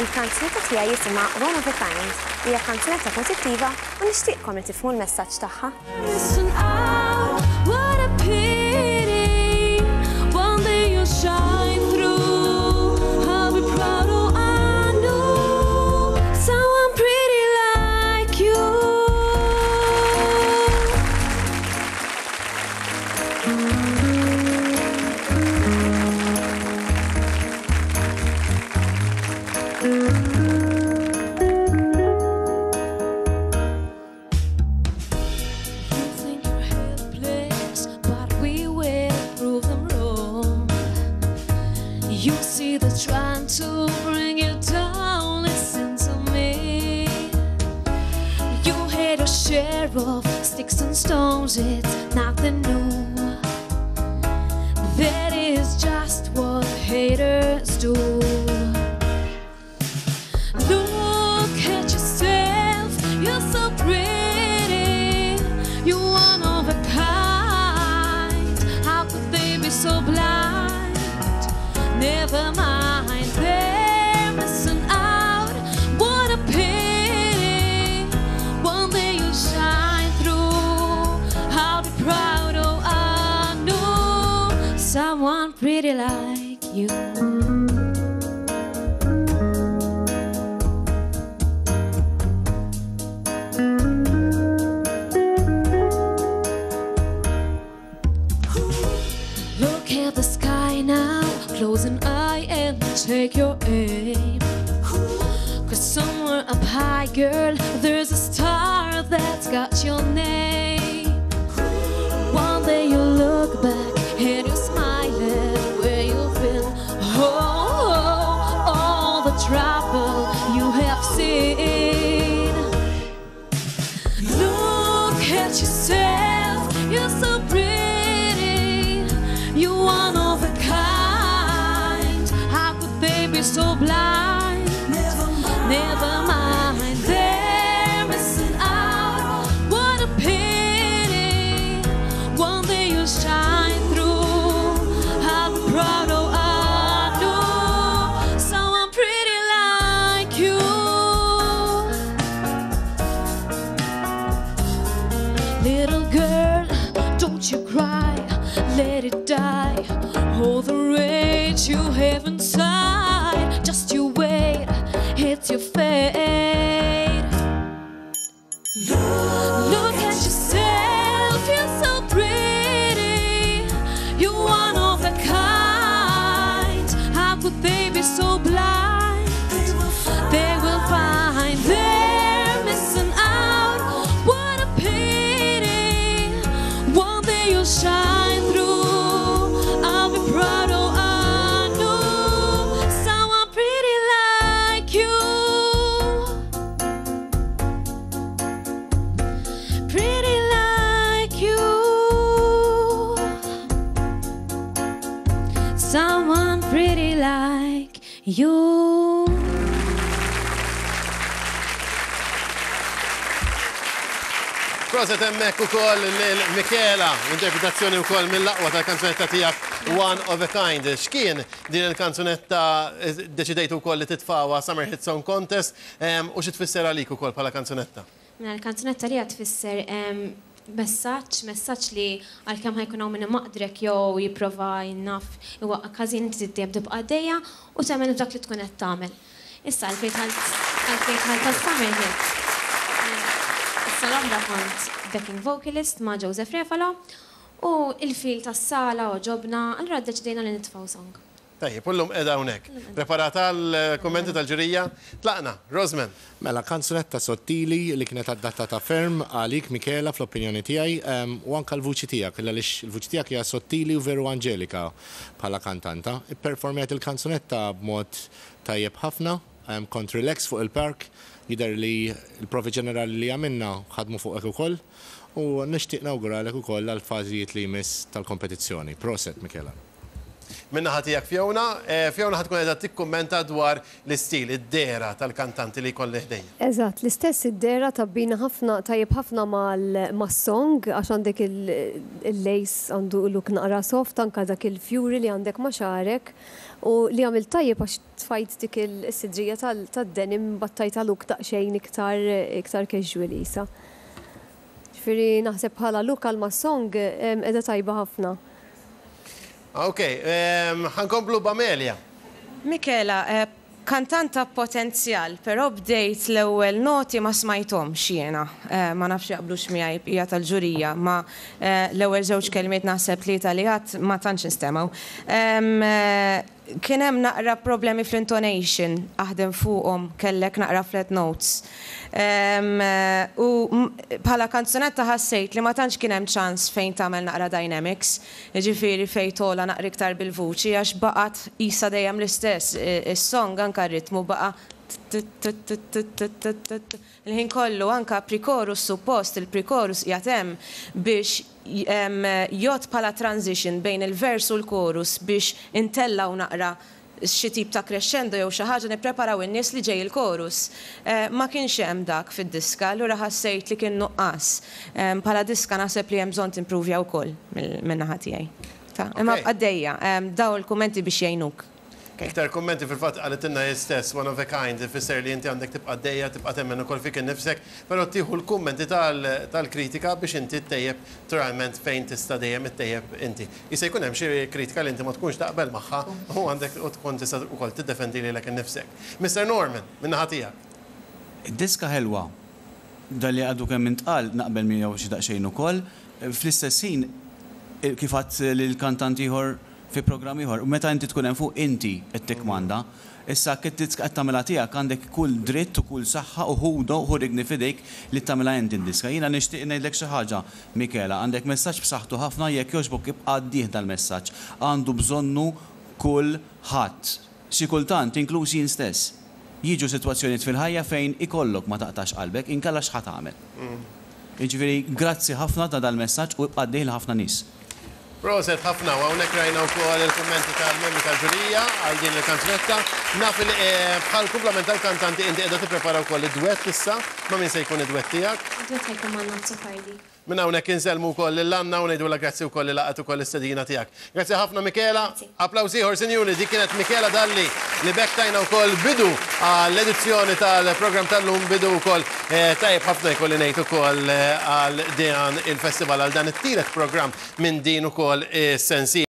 Il-kanzunetta tiegħi jisimha One of a Kind. Hija kanzunetta pożittiva u nixtieqkom li tifhmu l-messaġġ tagħha. Missing out, what a pity. One day you'll shine through. I'll be proud, oh I know someone pretty like you. You think you're helpless, but we will prove them wrong. You see they're trying to bring you down. Listen to me. You had your share of sticks and stones, it's nothing new. That is just what haters do. Look at yourself, you're so pretty. You're one of a kind. How could they be so blind? Never mind, they're missing out. What a pity. One day you'll shine through. I'll be proud, oh, I know someone pretty like you. Look at the sky now, close an eye and take your aim. Cause somewhere up high, girl, there's a star that's got your name. One day you'll look back and you'll smile at where you've been. Oh, all the trouble you have seen. Look at yourself, you're so pretty. You're one of a kind. How could they be so blind? Never mind, they're missing out. What a pity. One day you'll shine through. I'll be proud, oh, I know someone pretty like you. Little girl, don't you cry, let it die. All the rage you have inside, just you wait, it's your fate. Look at yourself, you're so pretty. You're one of a kind. How could they be so blind? They will find they're missing out. What a pity. One day you'll shine through. I'll be proud, oh, I know someone pretty like you. Pretty like you. Someone pretty like you. Proset hemmhekk ukoll lil Michela, interpretazzjoni wkoll mill-aqwa tal-kanzunetta tiegħek One of a Kind. X'kien din il-kanzunetta deċidejtu wkoll li titfgħuha Summer Hit Song Contest u xi tfisser għalik ukoll bħala kanzunetta? Mela l-kanzunetta li tfisser messaġġ, messaġġ li għalkemm ħa jkun hawn min imaqdrek jew jipprova jinnaf iwaqqa' każin inti trid dejjem tibqa' għaddejja u temmen f'dak li tkun qed tagħmel. Issa għalfejn dħalt għalfejn dħalt għas-Summer Hit. Is-sena l-oħra kont backing vocalist ma' Joseph Refalo u il-feel tas-sala għoġobna, allura ddeċidejna li nitfgħu song. Tajjeb, u llum qiegħda hawnhekk. Preparata għall-kummenti tal-ġurija? Tlaqna, Rosman. Mela, kanzunetta sottili li kienet adattata ferm għalik, Michela, fl-opinjoni tiegħi, u anke l-vuċi tiegħek, għaliex il-vuċi tiegħek hija sottili u veru anġelika bħala kantanta. Ipperformjajt il-kanzunetta b'mod tajjeb ħafna, kont relax fuq il-park, jidher li l-provi ġenerali li għamilna ħadmu fuqek ukoll, u nixtieq nawguralek ukoll għall-fażijiet li jmiss tal-kompetizzjoni. Proset, Michela. Min-naħa tiegħek Fiona. Fiona ħa tkun qiegħda tikkummenta dwar l-istil, id-dehra tal-kantanti li jkolli ħdejja. Eżatt, l-istess id-dehra tabbina ħafna, tajjeb ħafna mas-song għax għandek il-lace għandu look naqra soft anke dak il-fjuri li għandek ma' xagħrek u li għamilt tajjeb għax tfajt dik is-sidrija tad-denim battajtha look daqsxejn iktar iktar casual qisha. Ġifieri naħseb bħala look għal mas-song qiegħda tajba ħafna. Ok, ħa nkomplu b'Amelia. Michela, kantanta b'potenzjal, però bdejt l-ewwel noti ma smajthomx jiena. Ma nafx jaqblux miegħi l-bqija tal-ġurija, ma l-ewwel żewġ kelmiet naħseb tlieta li għadt ma tantx instemgħu. Kien hemm naqra problemi fl-intonation, aħdem fuqhom, kellek naqra flat notes. U bħala kanzunetta ħassejt li ma tantx kien hemm ċans fejn tagħmel naqra dynamics, jiġifieri fejn togħla naqra iktar bil-vuċi għax baqgħet qisha dejjem l-istess, is-song anke r-ritmu baqa' t-t-t-t-t-t-t-t-t il-ħin kollu, anke pre-chorus suppost il-pre-chorus qiegħed hemm biex jgħodd bħala transition bejn il-vers u l-chorus biex intellgħu naqra xi tip ta' crescendo jew xi ħaġa nippreparaw in-nies li ġej il-chorus. Ma kienx hemm dak fid-diska, allura ħassejt li kien nuqqas. Bħala diska naħseb li hemm bżonn timpruvja wkoll min-naħa tiegħi. Imma għaddejja, dawn il-kummenti biex jgħinuk. Iktar kummenti fil-fatt qalitilna hi stess, one of a kind, ifisser li inti għandek tibqa' għaddejja, tibqa' temmen ukoll fik innifsek, però tieħu l-kummenti tal-kritika biex inti ttejjeb naturalment fejn tista' dejjem ittejjeb inti. Jista' jkun hemm xi kritika li inti ma tkunx taqbel magħha u għandek u tkun tista' wkoll tiddefendi lilek innifsek. Mister Norman, min-naħa tiegħek. Id-diska ħelwa. Dan li għadu kemm intqal naqbel miegħu xi daqsxejn ukoll. Fl-istess ħin, kif għedt lil kantant ieħor fi programm ieħor, meta inti tkun hemm fuq inti qed tikkmanda. Issa jekk inti qed tagħmilha tiegħek għandek kull dritt u kull saħħa u ħudu, ħu rigni f'idejk li tagħmilha inti d-diska. Jiena nixtieq ngħidlek xi ħaġa, Michela, għandek messaġġ b'saħħtu ħafna jekk jogħġbok ibqa' għaddih dal-messaġġ. Għandu bżonnu kulħadd. Xi kultant, inkluż jien stess. Jiġu sitwazzjonijiet fil-ħajja fejn ikollok ma taqtax qalbek, inkella x'ħa tagħmel? Jiġifieri grazzi ħafna ta' dal-messaġġ u ibqa' għaddih lil ħafna nies. Proset ħafna u hawnhekk rajna wkoll il-kummenti tal-membri tal-ġurija għal din il-kanzunetta. Naf li bħal kumplament tal-kantanti inti qiegħda tipprepara wkoll id-dwett issa. Ma' min se jkun id-dwett tiegħek? Id-dwett se jkun ma' Anna Azzopardi. Minn hawnhekk insellmu wkoll lil Anna u ngħidulha grazzi wkoll li laqgħet ukoll l-istedina tiegħek. Grazzi ħafna Michela. Applaws ieħor sinjuri, dik kienet Michela Dalli li b'hekk tajna wkoll bidu għall-edizzjoni tal-programm tal-lum, bidu wkoll tajjeb ħafna jkolli ngħid ukoll għal dan il-festival, għal dan it-tielet programm minn din ukoll is-sensiela.